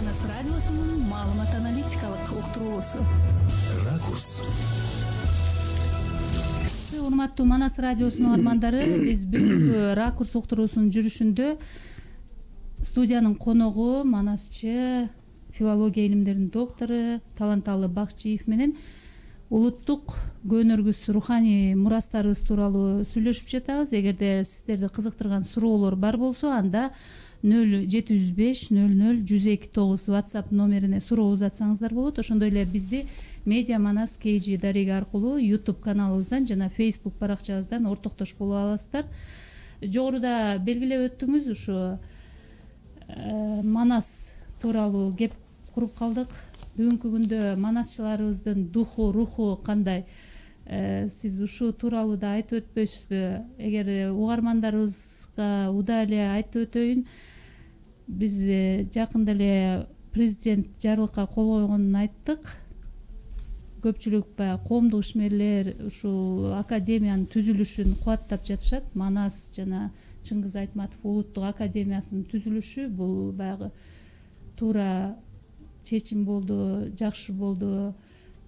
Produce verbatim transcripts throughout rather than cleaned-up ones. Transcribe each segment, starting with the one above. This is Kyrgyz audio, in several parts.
Манас радиосунун маалымат аналитикалык уктуруусу. Ракурс. Урматтуу Манас радиосунун армандары, биз бүгүнкү Ракурс уктуруусунун жүрүшүндө студиянын коногу манасчы, филология илимдеринин доктору Таланталы Бакчиев менен улуттук көнөргүс руханий мурастарыбыз тууралуу сүйлөшүп жатабыз. Эгерде сиздерди кызыктырган суроолор бар болсо, анда нөл жети жүз беш нөл нөл жүз эки тогуз WhatsApp номерине суроо узатсаңыздар болот. Ошондой эле бизди Медиа Манас кей жи дареги аркылуу YouTube каналыбыздан жана Facebook баракчабыздан ортоктош боло аласыздар. Жогоруда белгилеп өттүңүз, ушу Манас тууралуу кеп куруп калдык. Бүгүнкү күндө манасчыларыбыздын духу, руху кандай? Сиз ушул тууралуу да айтып өтпөйсүзбү? Эгер угармандарыбызга удаа эле айтып өтөйүн. Биз жакында эле президент жарлыкка кол койгонун айттык. Көпчүлүк баягы коомдук ишмерлер ушул академиянын түзүлүшүн кубаттап жатышат. Манас жана Чыңгыз Айтматов улуттук академиясынын түзүлүшү бул баягы туура чечим болду, жакшы болду,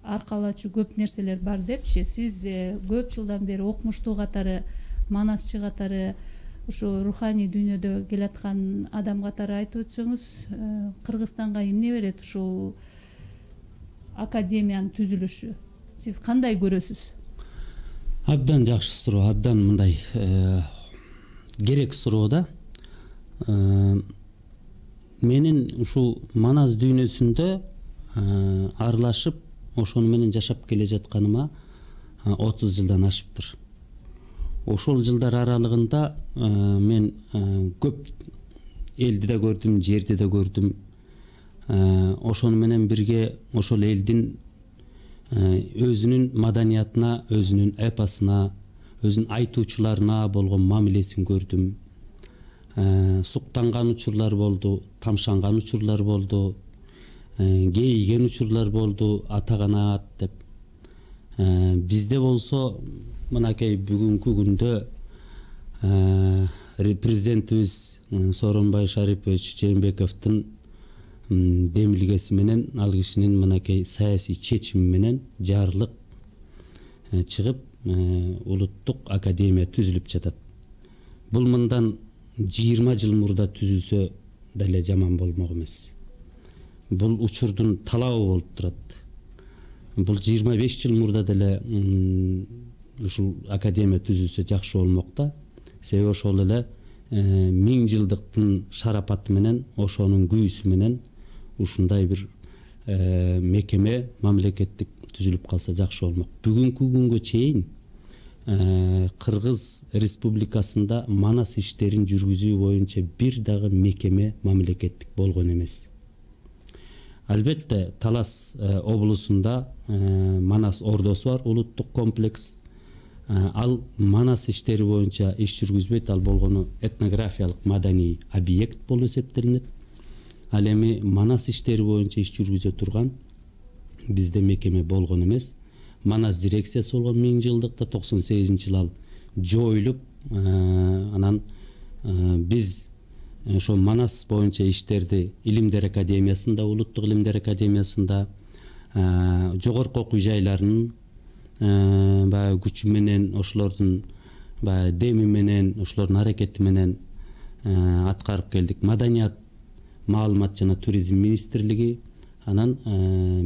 аркалачу көп нерселер бар депчи. Сиз көп жылдан бери окумуштуу катары, манасчы катары, ушу руханий дүйнөдө келаткан адам катары айтып өтсөңүз, Кыргызстанга эмне берет ушул академиянын түзүлүшү? Сиз кандай көрөсүз? Абдан жакшы суроо, абдан мындай керек суроо да. Менин ушул Манас дүйнөсүндө аралашып, ошону менен жашап келе жатканыма отуз жылдан ашыптыр. Ошол жылдар аралыгында мен көп элди да көрдүм, жерди да көрдүм. Ошону менен бирге ошол элдин өзүнүн маданиятына, өзүнүн эпосуна, өзүнүн айтуучуларына болгон мамилесин көрдүм. Суктанган учурлар болду, тамшанган учурлар болду, кейиген учурлар болду, атаганат деп. Бизде болсо мынакей бүгүнкү күндө президентибиз Сооронбай Шарипович Жээнбековдун демилгеси менен, ал кишинин мынакей саясий чечими менен жарлык чыгып, улуттук академия түзүлүп жатат. Бул мындан жыйырма жыл мурда түзүлсө деле жаман болмок эмес. Бул учурдун талабы болуп турат. Бул жыйырма беш жыл мурда деле ушул академия түзүлсө жакшы болмок да. Себеби ошол эле миң жылдыктын шарапаты менен, ошонун күйүүсү менен ушундай бир мекеме, мамлекеттик түзүлүп калса жакшы болмок. Бүгүнкү күнгө чейин Кыргыз Республикасында Манас иштерин жүргүзүү боюнча бир дагы мекеме мамлекеттик болгон эмес. Албетте, Талас облусунда Манас ордосу бар, улуттук комплекс. Ал Манас иштери боюнча иш жүргүзбөйт, ал болгону этнографиялык маданий объект болуп эсептелинет. Ал эми Манас иштери боюнча иш жүргүзө турган бизде мекеме болгон эмес. Манас дирекциясы болгон миң жылдыкта, токсон сегизинчи жылы ал жоюлуп, анан биз ошо Манас боюнча иштерди Илимдер академиясында, улуттук Илимдер академиясында, жогорку окуу жайларынын баягы күчү менен, ошолордун баягы деми менен, ошолордун аракети менен аткарып келдик. Маданият, маалымат жана туризм министрлиги, анан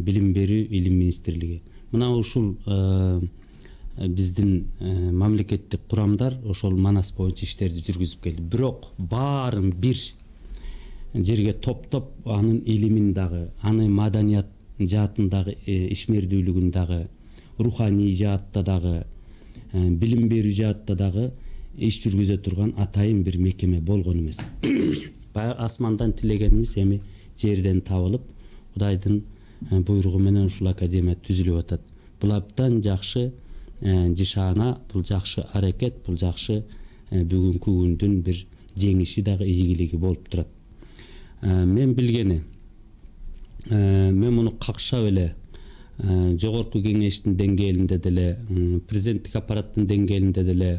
билим берүү, илим министрлиги. Мына ушул биздин мамлекеттик курамдар ошол Манас боюнча иштерди жүргүзүп келди. Бирок баарын бир жерге топтоп, анын илимин дагы, анын маданият жаатындагы ишмердүүлүгүн дагы, руханий жаатта дагы, билим берүү жаатта дагы иш жүргүзө турган атайын бир мекеме болгон эмес. Баягы асмандан тилегенибиз эми жерден табылып, Кудайдын буйругу менен ушул академия түзүлүп атат. Бул абдан жакшы жишаана, бул жакшы аракет, бул жакшы бүгүнкү күндүн бир жеңиши дагы, ийгилиги болуп турат. Мен билгени, мен муну какшап эле жогорку кеңештин деңгээлинде деле, президенттик аппараттын деңгээлинде деле,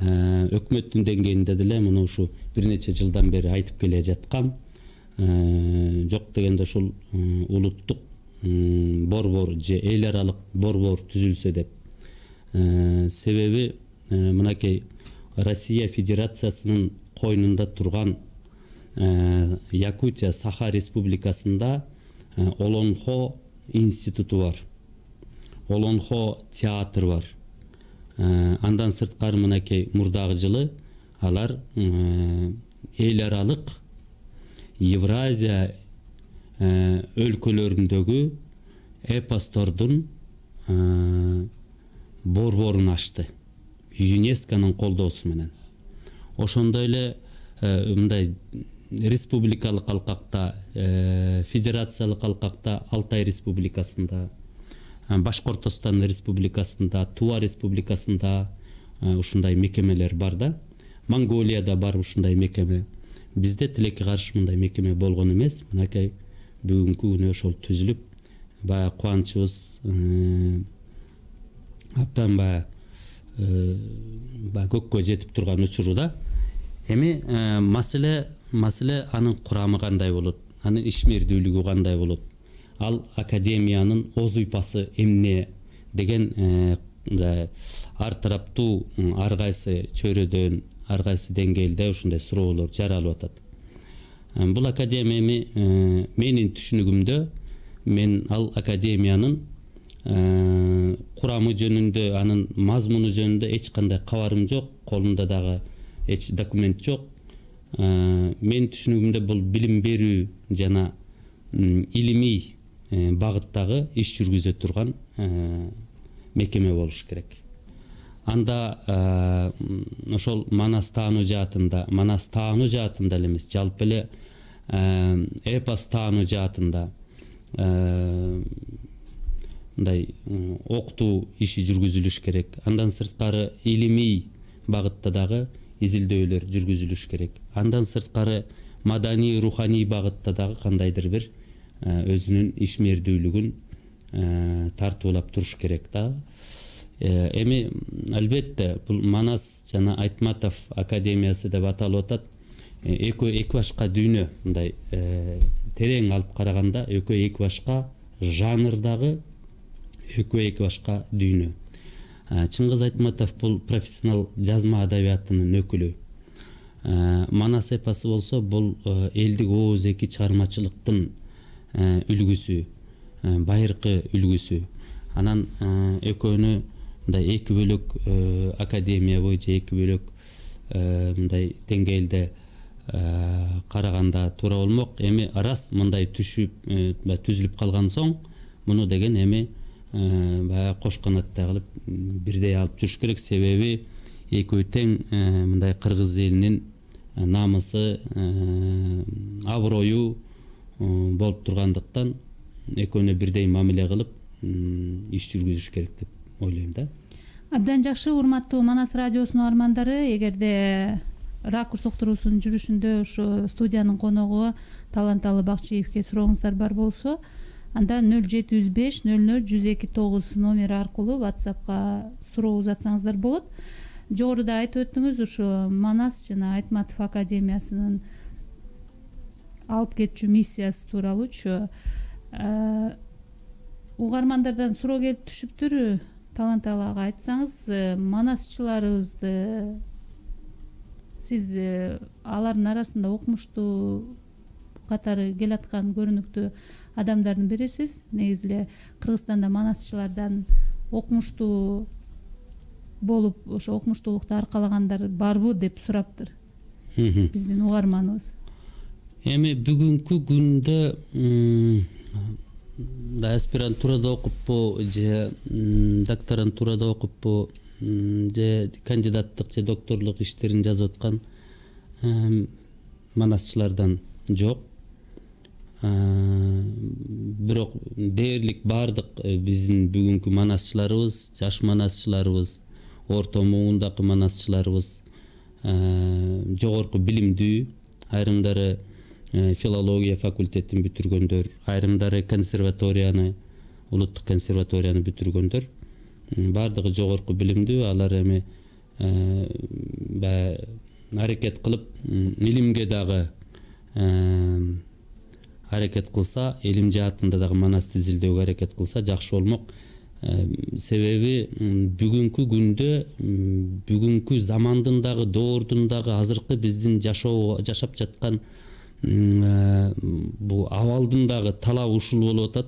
өкмөттүн деңгээлинде деле муну ушу бир нече жылдан бери айтып келе жаткам. жок дегенде ушул улуттук борбор же эл аралык борбор түзүлсө деп. Себеби мынакей Россия Федерациясынын койнунда турган Якутия Саха Республикасында Олонхо институту бар, Олонхо театр бар. Андан сырткары мынакей мурдагы жылы алар эл аралык Евразия өлкөлөрүндөгү эпостордун борборун ачты ЮНЕСКОнун колдоосу менен. Ошондой эле мындай республикалык алкакта, федерациялык алкакта Алтай Республикасында, Башкортостон Республикасында, Тува Республикасында ушундай мекемелер бар да. Монголияда бар ушундай мекеме. Бизде тилекке каршы мындай мекеме болгон эмес. Мынакей бүгүнкү күнү ошол түзүлүп, баягы кубанычыбыз абдан баягы баягы көккө жетип турган учуру да. Эми маселе маселе анын курамы кандай болот, анын ишмердүүлүгү кандай болот, ал академиянын оз уйпасы эмне деген ар тараптуу ар кайсы чөйрөдөн, ар кайсы деңгээлде ушундай суроолор жаралып атат. Бул академия эми менин түшүнүгүмдө мен ал академиянын курамы жөнүндө, анын мазмуну жөнүндө эч кандай кабарым жок, колумда дагы эч документ жок. Мен түшүнүгүмдө бул билим берүү жана илимий багыттагы иш жүргүзө турган мекеме болуш керек. Анда ошол Манас таануу жаатында, Манас таануу жаатында эле эмес, жалпы эле эпос таануу жаатында мындай окутуу иши жүргүзүлүш керек. Андан сырткары илимий багытта дагы изилдөөлөр жүргүзүлүш керек. Андан сырткары маданий, руханий багытта дагы кандайдыр бир өзүнүн ишмердүүлүгүн тартуулап туруш керек да. Эми албетте бул Манас жана Айтматов академиясы деп аталып атат. Экөө эки башка дүйнө, мындай терең алып караганда экөө эки башка жанрдагы экөө эки башка дүйнө. Чыңгыз Айтматов бул профессионал жазма адабиятынын өкүлү. Манас эпосы болсо бул элдик ооз эки чыгармачылыктын үлгүсү, байыркы үлгүсү. Анан экөөнү мындай эки бөлөк академия боюнча эки бөлөк мындай деңгээлде караганда туура болмок. Эми рас мындай түшүп түзүлүп калган соң муну деген эми баягы кош канаттай кылып бирдей алып жүрүш керек. Себеби экөө тең мындай кыргыз элинин намысы, аброю болуп тургандыктан экөөнө бирдей мамиле кылып иш жүргүзүш керек деп ойлойм да. Абдан жакшы, урматтуу Манас радиосунун армандары, эгерде Ракурс уктуруусунун жүрүшүндө ушу студиянын коногу Таланталы Бакчиевке сурооңуздар бар болсо, анда нөл жети жүз беш нөл нөл жүз эки тогуз номери аркылуу WhatsAppка суроо узатсаңыздар болот. Жогоруда айтып өттүңүз, ушу Манас жана Айтматов академиясынын алып кетчү миссиясы тууралуучу угармандардан суроо келип түшүптүр. Таланталы ага айтсаңыз, манасчыларыбызды сиз алардын арасында окумуштуу катары келаткан көрүнүктүү адамдардын бирисиз. Негизи эле Кыргызстанда манасчылардан окумуштуу болуп, ошо окумуштуулукту аркалагандар барбы деп сураптыр биздин угарманыбыз. Эми бүгүнкү күндө да аспирантурада окуппу же докторантурада окуппу же кандидаттык же докторлук иштерин жазып аткан манасчылардан жок. Бирок дээрлик баардык биздин бүгүнкү манасчыларыбыз, жаш манасчыларыбыз, орто муундагы манасчыларыбыз жогорку билимдүү, айрымдары филология факультетин бүтүргөндөр, айрымдары консерваторияны, улуттук консерваторияны бүтүргөндөр, баардыгы жогорку билимдүү. Алар эми аракет кылып илимге дагы аракет кылса, элим жаатында дагы манас тизилдөөгө аракет кылса жакшы болмок. Себеби бүгүнкү күндө, бүгүнкү замандын дагы, доордун дагы, азыркы биздин жашоо жашап жаткан бул абалдын дагы талабы ушул болуп атат.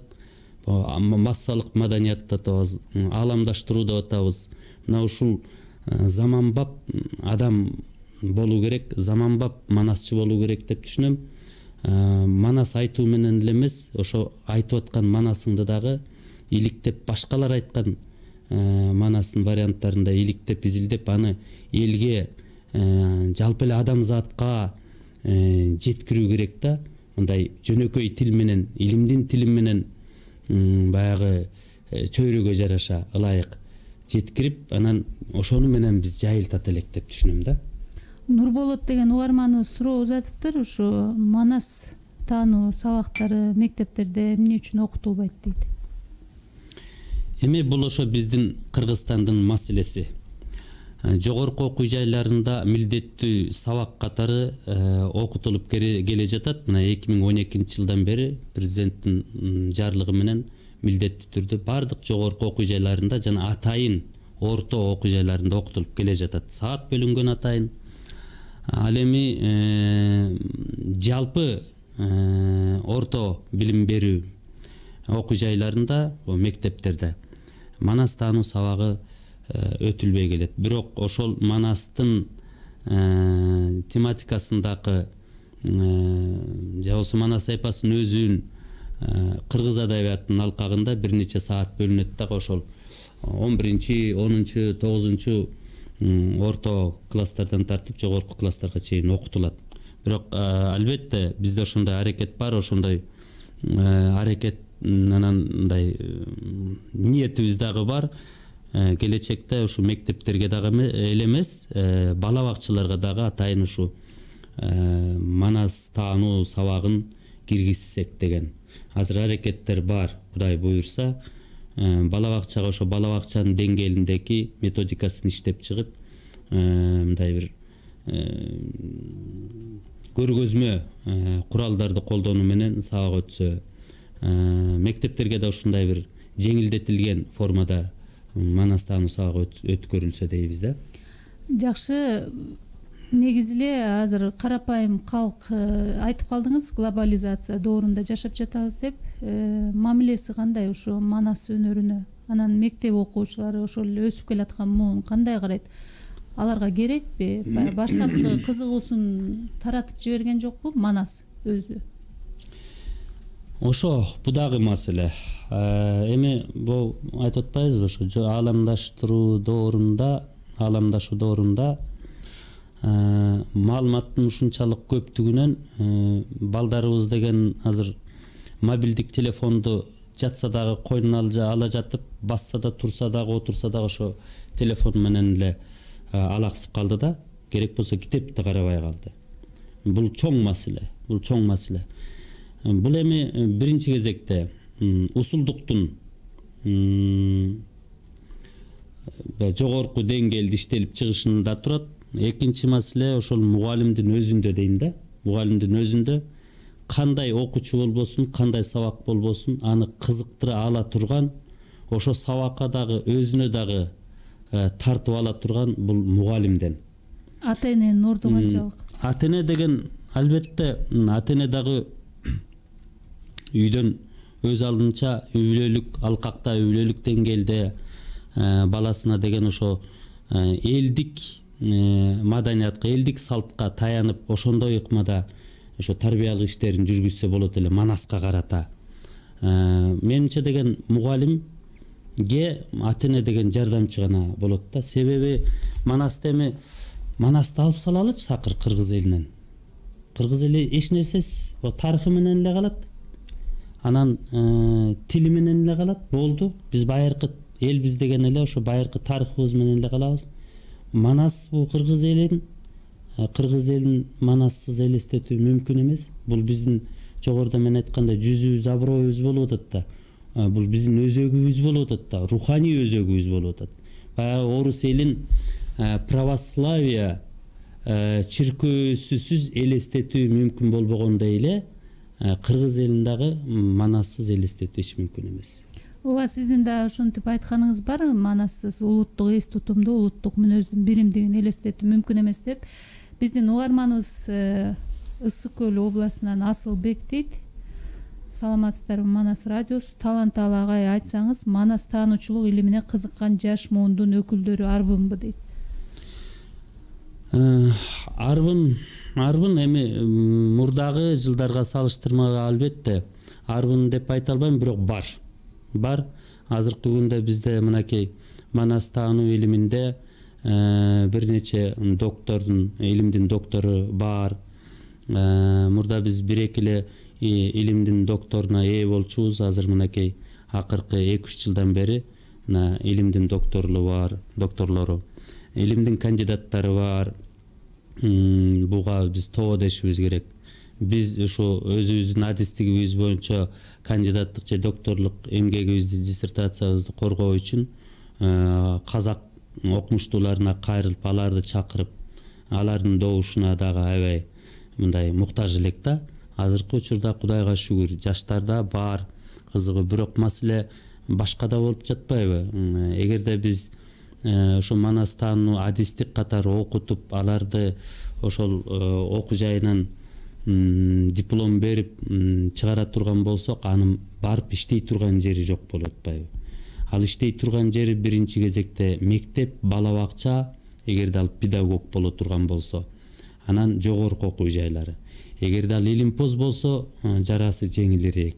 Массалык маданият деп атабыз, ааламдаштыруу деп атабыз. Мына ушул заманбап адам болуу керек, заманбап манасчы болуу керек деп түшүнөм. Манас айтуу менен эле эмес, ошо айтып аткан манасыңды дагы иликтеп, башкалар айткан манасын варианттарында иликтеп, изилдеп, аны элге, жалпы эле адамзатка жеткирүү керек да. Мындай жөнөкөй тил менен, илимдин тили менен баягы чөйрөгө жараша ылайык жеткирип, анан ошону менен биз жайылтат элек деп түшүнөм да. Нурболот деген угарманыбыз суроо узатыптыр. Ушу манас таануу сабактары мектептерде эмне үчүн окутулбайт дейт. Эми бул ошо биздин Кыргызстандын маселеси. Жогорку окуу жайларында милдеттүү сабак катары окутулуп келе жатат. Мына эки миң он экинчи жылдан бери президенттин жарлыгы менен милдеттүү түрдө бардык жогорку окуу жайларында жана атайын орто окуу жайларында окутулуп келе жатат. Саат бөлүнгөн атайын. Ал эми жалпы орто билим берүү окуу жайларында, мектептерде манас таануу сабагы өтүлбөй келет. Бирок ошол манастын тематикасындагы же болбосо манас эпосунун өзүн кыргыз адабиятынын алкагында бир нече саат бөлүнөт дагы. Ошол он биринчи, онунчу, тогузунчу орто класстардан тартып жогорку класстарга чейин окутулат. Бирок албетте бизде ошондой аракет бар, ошондой аракет анан мындай ниетибиз дагы бар. Келечекте ушу мектептерге дагы эле эмес, бала бакчаларга дагы атайын ушу манас таануу сабагын киргизсек деген. Азыр аракеттер бар, Кудай буйрса, бала бакчага ошо бала бакчанын деңгээлиндеги методикасын иштеп чыгып, мындай бир көргөзмө куралдарды колдонуу менен сабак өтсө, мектептерге да ушундай бир жеңилдетилген формада манас таануу сабагы өткөрүлсө дейбиз да. Жакшы. Негизи эле азыр карапайым калк, айтып калдыңыз, глобализация доорунда жашап жатабыз деп. Мамилеси кандай ушу манас өнөрүнө? Анан мектеп окуучулары ошол эле өсүп келаткан муун кандай карайт? Аларга керекпи? Баштапкы кызыгуусун таратып жиберген жокпу манас өзү? Ошо бу дагы маселе. Эми бул айтып атпайбызбы, ошо ааламдаштыруу доорунда, ааламдашуу доорунда маалыматтын ушунчалык көптүгүнөн балдарыбыз деген азыр мобилдик телефонду жатса дагы койнуна ала жатып, басса да, турса дагы, отурса дагы ошо телефон менен эле алаксып калды да, керек болсо китепти карабай калды. Бул чоң маселе, бул чоң маселе. Бул эми биринчи кезекте усулдуктун жогорку деңгээлде иштелип чыгышында турат. Экинчи маселе ошол мугалимдин өзүндө дейм да. Мугалимдин өзүндө кандай окуучу болбосун, кандай сабак болбосун, аны кызыктыра ала турган, ошо сабакка дагы өзүнө дагы тартып ала турган бул мугалимден. Ата эненин орду канчалык? Ата эне деген албетте ата эне дагы үйдөн өз алдынча үй бүлөлүк алкакта, үй бүлөлүк деңгээлде баласына деген ошо элдик маданиятка, элдик салтка таянып, ошондой ыкмада ошо тарбиялык иштерин жүргүзсө болот эле манаска карата. Менимче деген мугалимге ата эне деген жардамчы гана болот да. Себеби манасты эми манасты алып салалычы такыр кыргыз элинен. Кыргыз эли эч нерсесиз, тарыхы менен эле калат. Анан тили менен эле калат, болду. Биз байыркы элбиз деген эле ошо байыркы тарыхыбыз менен эле калабыз. Манас бул кыргыз элин, кыргыз элин манассыз элестетүү мүмкүн эмес. Бул биздин жогоруда мен айткандай жүзүбүз, аброюбуз болуп атат да. Бул биздин өзөгүбүз болуп атат да, руханий өзөгүбүз болуп атат. Баягы орус элин православие чиркөөсүсүз элестетүү мүмкүн болбогондой эле кыргыз элин дагы манассыз элестетүү эч мүмкүн эмес. ооба, сиздин да ошентип айтканыңыз бар, манассыз улуттук эс тутумду, улуттук мүнөздүн биримдигин элестетүү мүмкүн эмес деп. Биздин угарманыбыз Ысык көл областынан Асылбек дейт. Саламатсыздарбы, Манас радиосу. Таланталы агай, айтсаңыз, манас таануучулук илимине кызыккан жаш муундун өкүлдөрү арбынбы дейт. Арбын, арбын эми мурдагы жылдарга салыштырмага албетте арбын деп айта албайм, бирок бар. Бар. Азыркы күндө бизде мынакей манас таануу илиминде бир нече доктордун, илимдин доктору бар. Мурда биз бир-эки эле илимдин докторуна ээ болчубуз. Азыр мынакей акыркы эки үч жылдан бери мына илимдин докторлору бар, докторлору, илимдин кандидаттары бар. Буга биз тоо дешибиз керек. Биз ошо өзүбүздүн адистигибиз боюнча кандидаттык же докторлук эмгегибизди, диссертациябызды коргоо үчүн казак окумуштууларына кайрылып, аларды чакырып, алардын добушуна дагы аябай мындай муктаж элек да. Азыркы учурда Кудайга шүгүр жаштарда бар кызыгуу, бирок маселе башкада болуп жатпайбы? Эгерде биз ошо манас таануу адистик катары окутуп, аларды ошол окуу жайынан диплом берип чыгара турган болсок, анын барып иштей турган жери жок болуп атпайбы? Ал иштей турган жери биринчи кезекте мектеп, бала бакча, эгерде ал педагог боло турган болсо, анан жогорку окуу жайлары. Эгерде ал илимпоз болсо, жарасы жеңилирээк.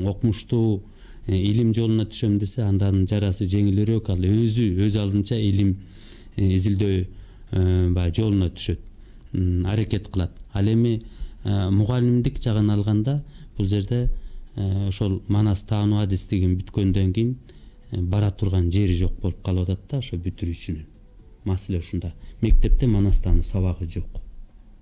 Окумуштуу илим жолуна түшөм десе, андан жарасы жеңилирээк. Ал өзү өз алдынча илим изилдөө баягы жолуна түшөт, аракет кылат. Ал эми мугалимдик жагын алганда, бул жерде ошол манас таануу адистигин бүткөндөн кийин бара турган жери жок болуп калып атат да, ошо бүтүрүүчүнүн. Маселе ушунда. Мектепте манас таануу сабагы жок.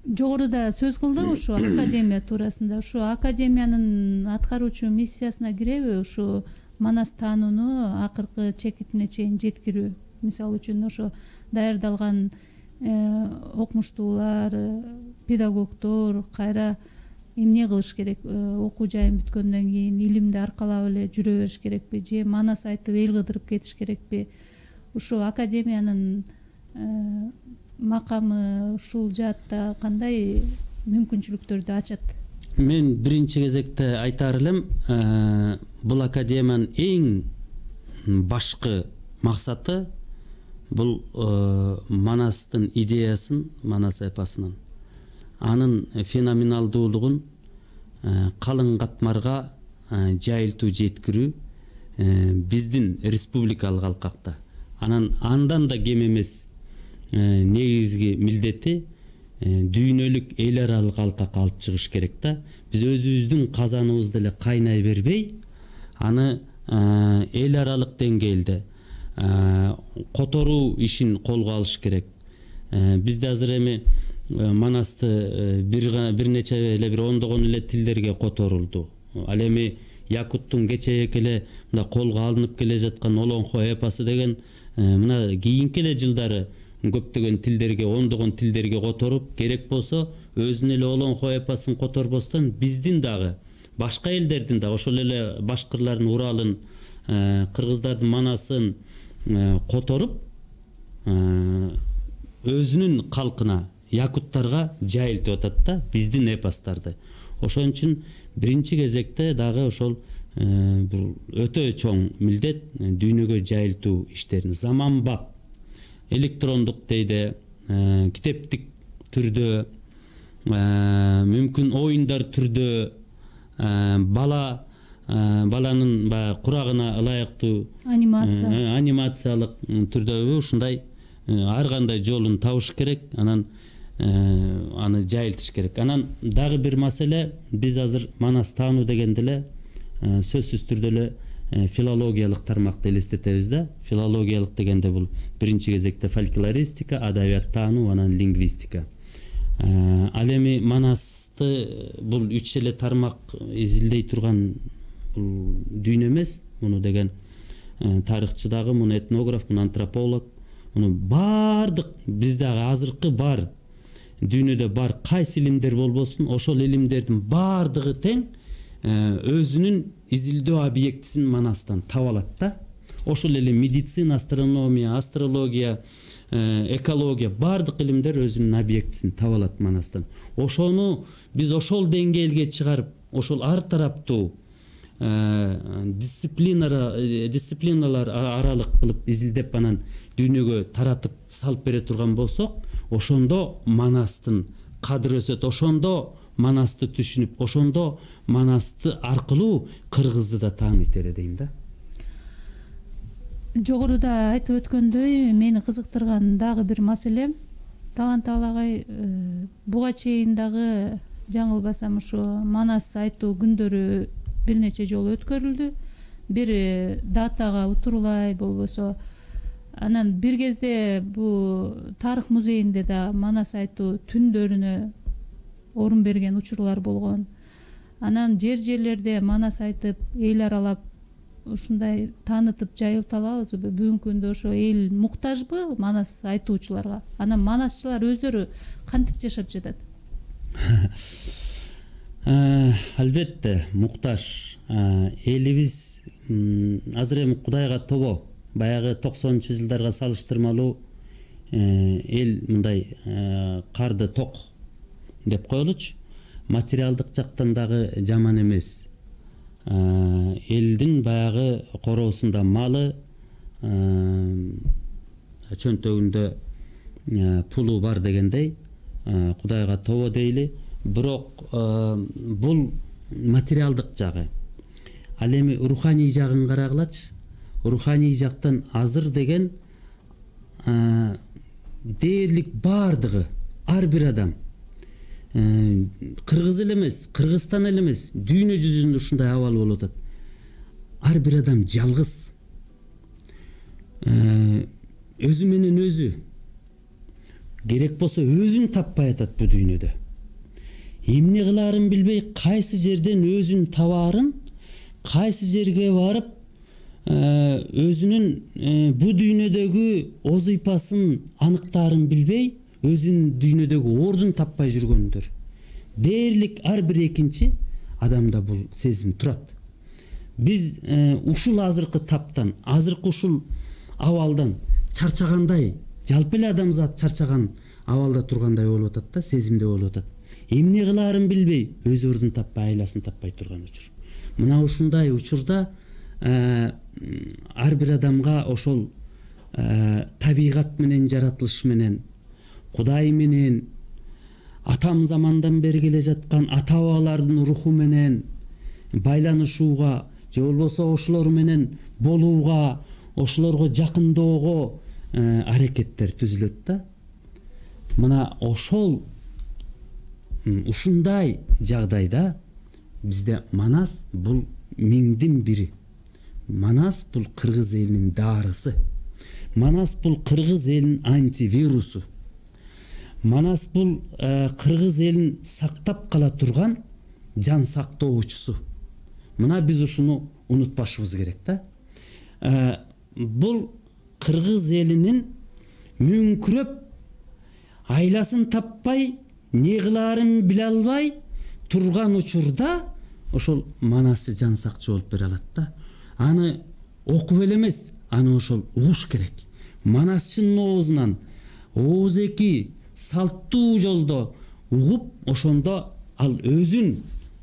Жогоруда сөз кылдык ушу академия туурасында. Ушу академиянын аткаруучу миссиясына киреби ушу манас таанууну акыркы чекитине чейин жеткирүү? Мисалы үчүн ошо даярдалган окумуштуулар, педагогдор кайра эмне кылыш керек? Окуу жайын бүткөндөн кийин илимди аркалап эле жүрө бериш керекпи же манас айтып эл кыдырып кетиш керекпи? Ушу академиянын макамы ушул жаатта кандай мүмкүнчүлүктөрдү ачат? Мен биринчи кезекте айтаар элем, бул академиянын эң башкы максаты бул манастын идеясын, манас эпосунун анын феноменалдуулугун калың катмарга жайылтуу, жеткирүү биздин республикалык алкакта. Анан андан да кем эмес негизги милдети дүйнөлүк эл аралык алкакка алып чыгыш керек да. Биз өзүбүздүн казаныбызды эле кайнай бербей, аны эл аралык деңгээлде которуу ишин колго алыш керек. Бизде азыр эми манасты бир нече эле бир ондогон эле тилдерге которулду. Ал эми якуттун кечээки эле мына колго алынып келе жаткан Олонхо эпосу деген мына кийинки эле жылдары көптөгөн тилдерге, ондогон тилдерге которуп, керек болсо өзүнүн эле Олонхо эпосун которбостон биздин дагы, башка элдердин да, ошол эле башкырлардын Уралын, кыргыздардын манасын которуп, өзүнүн калкына, якуттарга жайылтып атат да биздин эпостарды. Ошон үчүн биринчи кезекте дагы ошол бул өтө чоң милдет дүйнөгө жайылтуу иштерин заманбап, электрондук дейде, китептик түрдө, мүмкүн оюндар түрдө, бала баланын баягы курагына ылайыктуу анимация анимациялык түрдө ушундай ар кандай жолун табыш керек, анан аны жайылтыш керек. Анан дагы бир маселе, биз азыр манас таануу дегенде эле сөзсүз түрдө эле филологиялык тармакты элестетебиз да. Филологиялык дегенде бул биринчи кезекте фольклористика, адабият таануу, анан лингвистика. Ал эми манасты бул үч эле тармак изилдей турган бул дүйнө эмес. Муну деген тарыхчы дагы, муну этнограф, муну антрополог, муну бардык бизде азыркы бар дүйнөдө бар кайсы илимдер болбосун, ошол илимдердин бардыгы тең өзүнүн изилдөө объектисин Манастан таба алат да. Ошол эле медицина, астрономия, астрология, экология баардык илимдер өзүнүн объектисин таба алат Манастан. Ошону биз ошол деңгээлге чыгарып, ошол ар тараптуу дисциплиналар аралык кылып изилдеп анан дүйнөгө таратып салып бере турган болсок, ошондо Манастын кадыры өсөт, ошондо Манасты түшүнүп, ошондо Манасты аркылуу кыргызды да тааныйт эле дейм да. Жогоруда айтып өткөндөй, мени кызыктырган дагы бир маселе, Таланталы агай буга чейин дагы жаңылбасам ушу Манас айтуу күндөрү бир нече жолу өткөрүлдү. Бир датага утурлай болбосо, анан бир кезде бу тарых музейинде да Манас айтуу түндөрүнө орун берген учурлар болгон. Анан жер жерлерде Манас айтып, эл аралап ушундай таанытып жайылта алабызбы? Бүгүнкү күндө ошо эл муктажбы Манас айтуучуларга? Анан манасчылар өздөрү кантип жашап жатат? Албетте муктаж. Элибиз азыр эми Кудайга тобо, баягы токсонунчу жылдарга салыштырмалуу эл мындай карды ток деп коелучу. Материалдык жактан дагы жаман эмес. Элдин баягы короосунда малы, чөнтөгүндө пулу бар дегендей, Кудайга тобо дейли. Бирок бул материалдык жагы. Ал эми руханий жагын карагылачы. Руханий жактан азыр деген дээрлик бардыгы, ар бир адам, кыргыз эле эмес, Кыргызстан эле эмес, дүйнө жүзүндө ушундай абал болуп атат. Ар бир адам жалгыз, өзү менен өзү, керек болсо өзүн таппай атат бу дүйнөдө. Эмне кылаарын билбей, кайсы жерден өзүн табаарын, кайсы жерге барып өзүнүн бу дүйнөдөгү оз ыйпасын аныктаарын билбей, өзүнүн дүйнөдөгү ордун таппай жүргөндөр. Дээрлик ар бир экинчи адамда бул сезим турат. Биз ушул азыркы таптан, азыркы ушул абалдан чарчагандай, жалпы эле адамзат чарчаган абалда тургандай болуп атат да, сезимде болуп атат. Эмне кылаарын билбей, өз ордун таппай, айласын таппай турган учур. Мына ушундай учурда ар бир адамга ошол табигат менен, жаратылыш менен, Кудай менен, атам замандан бери келе жаткан ата бабалардын руху менен байланышууга, же болбосо ошолор менен болууга, ошолорго жакындоого аракеттер түзүлөт да. Мына ошол ушундай жагдайда бизде Манас бул миңдин бири. Манас бул кыргыз элинин дарысы. Манас бул кыргыз элинин антивирусу. Манас бул кыргыз элин сактап кала турган жан сактоочусу. Мына биз ушуну унутпашыбыз керек да. Бул кыргыз элинин мүңкүрөп, айласын таппай, не кылаарын биле албай турган учурда ошол Манасы жан сакчы болуп бере алат да. Аны окуп эле эмес, аны ошол угуш керек. Манасчынын оозунан ооз-эки салттуу жолдо угуп, ошондо ал өзүн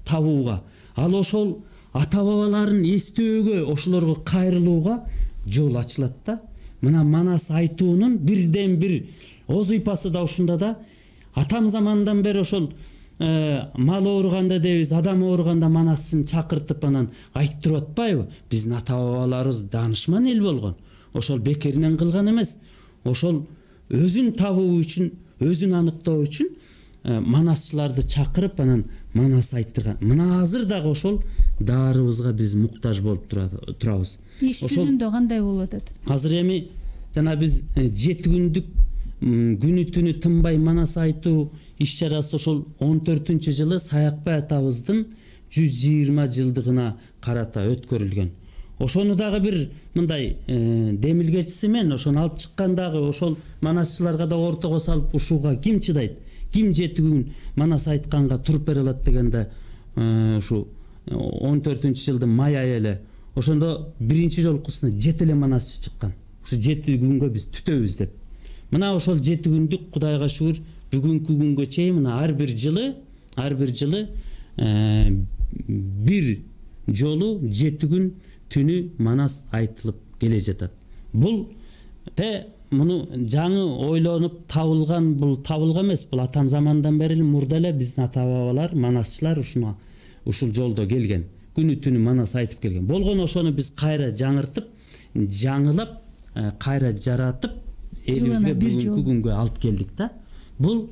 табууга, ал ошол ата бабаларын эстөөгө, ошолорго кайрылууга жол ачылат да. Мына Манас айтуунун бирден бир оз ыйпасы да ушунда да. Атам замандан бери ошол мал ооруганда дебиз, адам ооруганда Манасын чакыртып анан айттырып атпайбы? Биздин ата бабаларыбыз даанышман эл болгон. Ошол бекеринен кылган эмес. Ошол өзүн табуу үчүн, өзүн аныктоо үчүн манасчыларды чакырып анан Манас айттырган. Мына азыр дагы ошол даарыбызга биз муктаж болуп турабыз. Иш жүзүндө кандай болуп атат? Азыр эми жана биз жети күндүк күнү түнү тынбай Манас айтуу иш чарасы ошол он төртүнчү жылы Саякбай атабыздын жүз жыйырма жылдыгына карата өткөрүлгөн. Ошону дагы бир мындай демилгечиси менен ошону алып чыккан дагы ошол манасчыларга да ортого салып ушуга ким чыдайт? Ким жети күн Манас айтканга туруп бере алат дегенде ушу он төртүнчү жылдын май айы эле ошондо биринчи жолкусуна жети эле манасчы чыккан. Ушу жети күнгө биз түтөбүз деп. Мына ошол жети күндүк Кудайга шүгүр бүгүнкү күнгө чейин мына ар бир жылы ар бир жылы бир жолу жети күн түнү манас айтылып келе жатат. Бул те муну жаңы ойлонуп табылган, бул табылган эмес, бул атам замандан бери эле мурда эле биздин ата бабалар, манасчылар ушуна ушул жолдо келген. Күнү түнү манас айтып келген. Болгону ошону биз кайра жаңыртып, жаңылап, кайра жаратып, элибизге бүгүнкү күнгө алып келдик да. Бул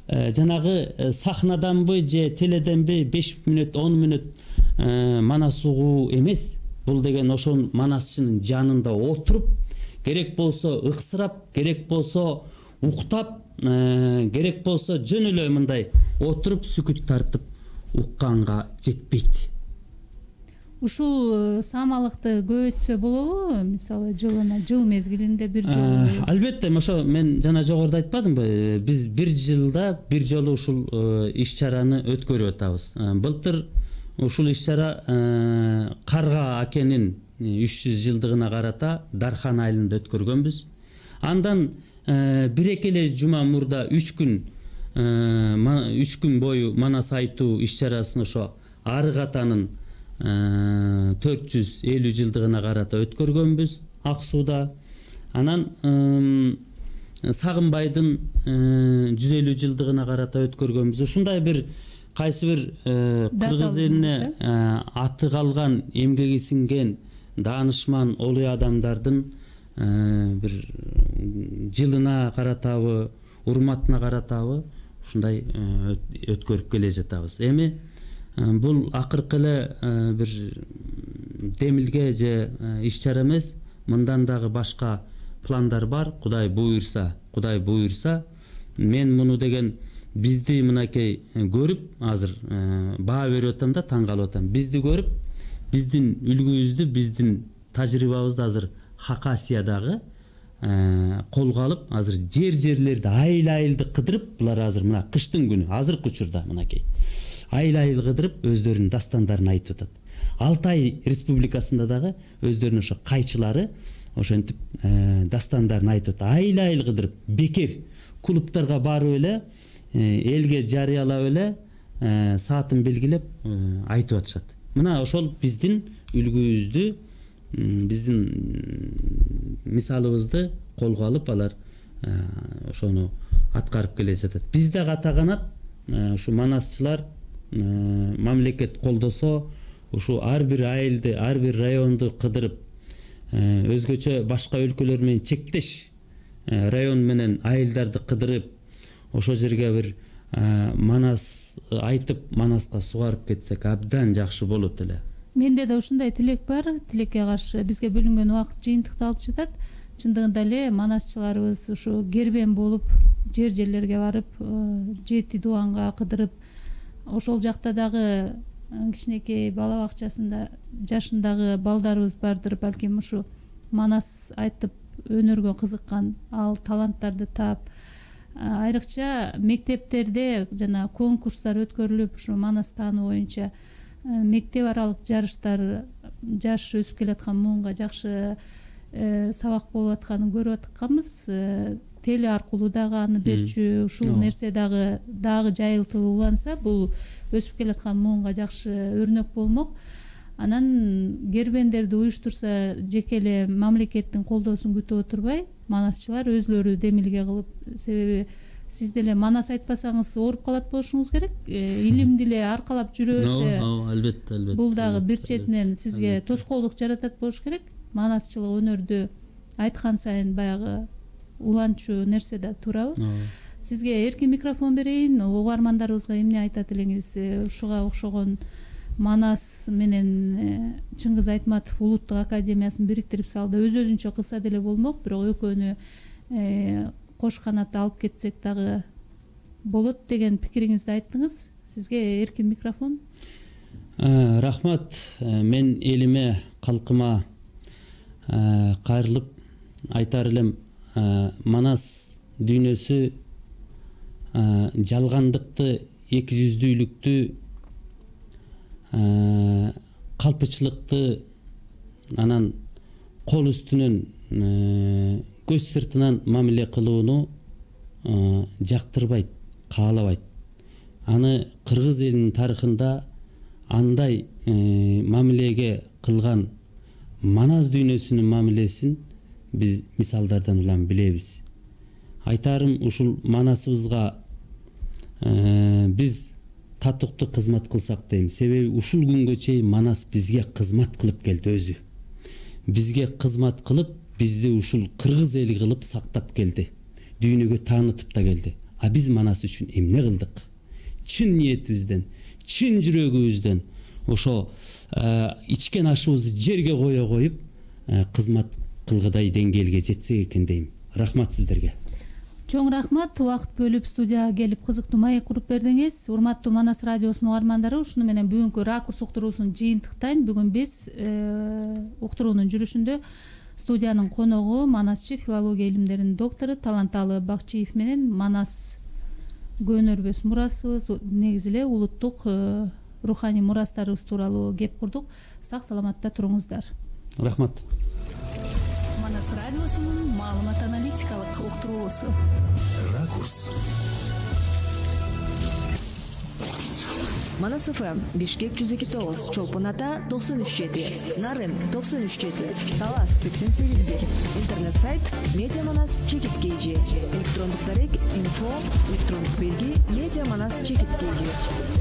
жанагы сахнаданбы же теледенби беш мүнөт, он мүнөт манас угуу эмес. Бул деген ошол манасчынын жанында отуруп, керек болсо ыксырап, керек болсо уктап, керек болсо жөн эле мындай отуруп сүкүт тартып укканга жетпейт. Ушул самалыкты көбөйтсө болобу? Мисалы жылына жыл мезгилинде бир жолу. Албетте, ошо мен жана жогоруда айтпадымбы? Биз бир жылда бир жолу ушул иш-чараны өткөрүп атабыз. Былтыр ушул иш-чара Карга акенин үч жүз жылдыгына карата Дархан айылында өткөргөнбүз. Андан бир эки эле жума мурда үч күн үч күн бою манас айтуу иш-чарасын ошо Арык атанын төрт жүз элүү жылдыгына карата өткөргөнбүз Ак сууда. Анан Сагынбайдын жүз элүү жылдыгына карата өткөргөнбүз. Ушундай бир кайсы бир кыргыз элине аты калган, эмгеги сиңген даанышман олуй адамдардын бир жылына каратабы, урматына каратабы ушундай өткөрүп келе жатабыз. Эми бул акыркы эле бир демилге же иш-чара эмес, мындан дагы башка пландар бар. Кудай буйрса, Кудай буйрса, мен муну деген бизди мынакей көрүп азыр баа берип атам да таң калып атам. Бизди көрүп, биздин үлгүбүздү, биздин тажрыйбабызды азыр Хакасиядагы колго алып, азыр жер-жерлерди айыл-айылды кыдырып, булар азыр мына кыштын күнү, азыркы учурда мынакей айыл-айыл кыдырып өздөрүнүн дастандарын айтып атат. Алтай республикасында дагы өздөрүнүн ошо кайчылары ошентип дастандарын айтып атат. Айыл-айыл кыдырып, бекер клубтарга барып эле, элге жарыялап эле, саатын белгилеп айтып атышат. Мына ошол биздин үлгүбүздү, биздин мисалыбызды колго алып алар ошону аткарып келе жатат. Биз дагы ата канат ушу манасчылар мамлекет колдосо, ушу ар бир айылды, ар бир районду кыдырып, өзгөчө башка өлкөлөр менен чектеш район менен айылдарды кыдырып, ошол жерге бир манас айтып, манаска сугарып кетсек абдан жакшы болот эле. Менде да ушундай тилек бар. Тилекке каршы бизге бөлүнгөн убакыт жыйынтыкталып жатат. Чындыгында эле манасчыларыбыз ушу кербен болуп, жер-жерлерге барып, жети дубанга кыдырып, ошол жакта дагы кичинекей бала бакчасында жашындагы балдарыбыз бардыр, балким ушу манас айтып өнөргө кызыккан, ал таланттарды таап, айрыкча мектептерде жана конкурстар өткөрүлүп, ушу манас таануу боюнча мектеп аралык жарыштар жаш өсүп келаткан муунга жакшы сабак болуп атканын көрүп атканбыз. Теле аркылуу дагы аны берчү, ушул нерсе дагы дагы жайылтылып уланса, бул өсүп келаткан муунга жакшы өрнөк болмок. Анан кербендерди уюштурса, жеке эле мамлекеттин колдоосун күтүп отурбай, манасчылар өзлөрү демилге кылып, себеби сиз деле манас айтпасаңыз ооруп калат болушуңуз керек. Илимди эле аркалап жүрө берсе, албетте, албетте. Бул дагы бир четинен сизге тоскоолдук жаратат болуш керек. Манасчылык өнөрдү айткан сайын баягы уланчу нерсе да туурабы? Сизге эркин микрофон берейин. Угармандарыбызга эмне айтат элеңиз? Ушуга окшогон манас менен Чыңгыз Айтматов улуттук академиясын бириктирип салды. Өз-өзүнчө кылса деле болмок, бирок экөөнү кош канат алып кетсек дагы болот деген пикириңизди айттыңыз. Сизге эркин микрофон. Рахмат. Мен элиме, калкыма кайрылып айтар элем, манас дүйнөсү жалгандыкты, эки жүздүүлүктү калпычылыкты анан кол үстүнөн көз сыртынан мамиле кылууну жактырбайт, каалабайт. Аны кыргыз элинин тарыхында андай мамилеге кылган манас дүйнөсүнүн мамилесин биз мисалдардан улам билебиз. Айтарым, ушул манасыбызга биз татыктуу кызмат кылсак дейм. Себеби ушул күнгө чейин манас бизге кызмат кылып келди өзү. Бизге кызмат кылып, бизди ушул кыргыз эли кылып сактап келди. Дүйнөгө таанытып да келди. А биз манас үчүн эмне кылдык? Чын ниетибизден, чын жүрөгүбүздөн ошо ичкен ашыбызды жерге кое коюп, кызмат кылгыдай деңгээлге жетсек экен дейм. Рахмат сиздерге. Чоң рахмат, убакыт бөлүп студияга келип кызыктуу маек куруп бердиңиз. Урматтуу Манас радиосунун угармандары, ушуну менен бүгүнкү ракурс уктуруусун жыйынтыктайм. Бүгүн биз уктуруунун жүрүшүндө студиянын коногу манасчы, филология илимдеринин доктору Таланталы Бакчиев менен манас көнөрбөс мурасыбыз, негизи эле улуттук руханий мурастарыбыз тууралуу кеп курдук. Сак саламатта туруңуздар. Рахмат. Манас радиосунун маалымат аналитикалык уктуруусу. Ракурс. Манас эф эм Бишкек жүз эки тогуз, Чолпон Ата токсон үч жети, Нарын токсон үч жети, Талас сексен сегиз бир. Интернет сайт медиаманас чекит kg. Электрондук дарек инфо электрондук белги медиаманас чекит kg.